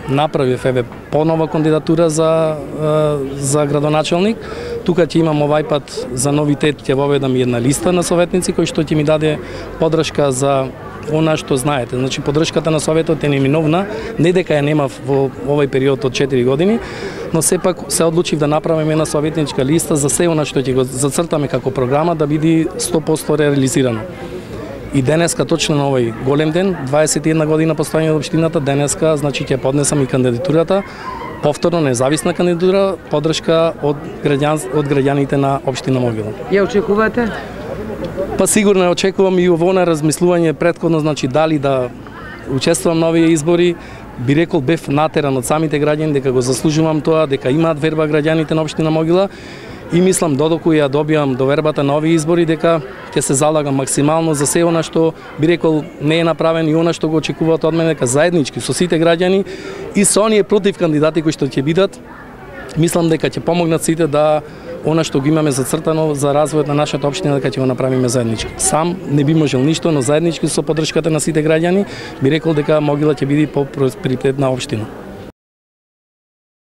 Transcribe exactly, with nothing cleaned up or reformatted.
направив еве понова кандидатура за за градоначелник. Тука ќе имам овај пат за новитет, ќе воведам една листа на советници кој што ќе ми даде поддршка за она што знаете. Значи поддршката на советот е неминовна, не дека ја немав во овој период од четири години, но сепак се одлучив да направиме една советничка листа за се она што ќе го зацртаме како програма да биде сто проценти реализирано. И денеска, точно на овој голем ден, дваесет и една година постојање од општината, денеска, значи ќе поднесам и кандидатурата, повторно независна кандидатура, поддршка од граѓан од граѓаните на општина Могила. Ја очекувате? Па сигурно ја очекувам и ово на размислување претходно, значи дали да учествувам на овие избори. Би рекол бев натеран од самите граѓани дека го заслужувам тоа, дека имаат верба граѓаните на општина Могила. И мислам додека ја добијам довербата на овие избори дека ќе се залагам максимално за се она што би рекол не е направено и она што го очекуваат од мене, дека заеднички со сите граѓани и со оние против кандидати кои што ќе бидат, мислам дека ќе помогнат сите да она што го имаме зацртано за развојот на нашата општина дека ќе го направиме заеднички. Сам не би можел ништо, но заеднички со поддршката на сите граѓани би рекол дека Могила ќе биде по-просперитетна општина.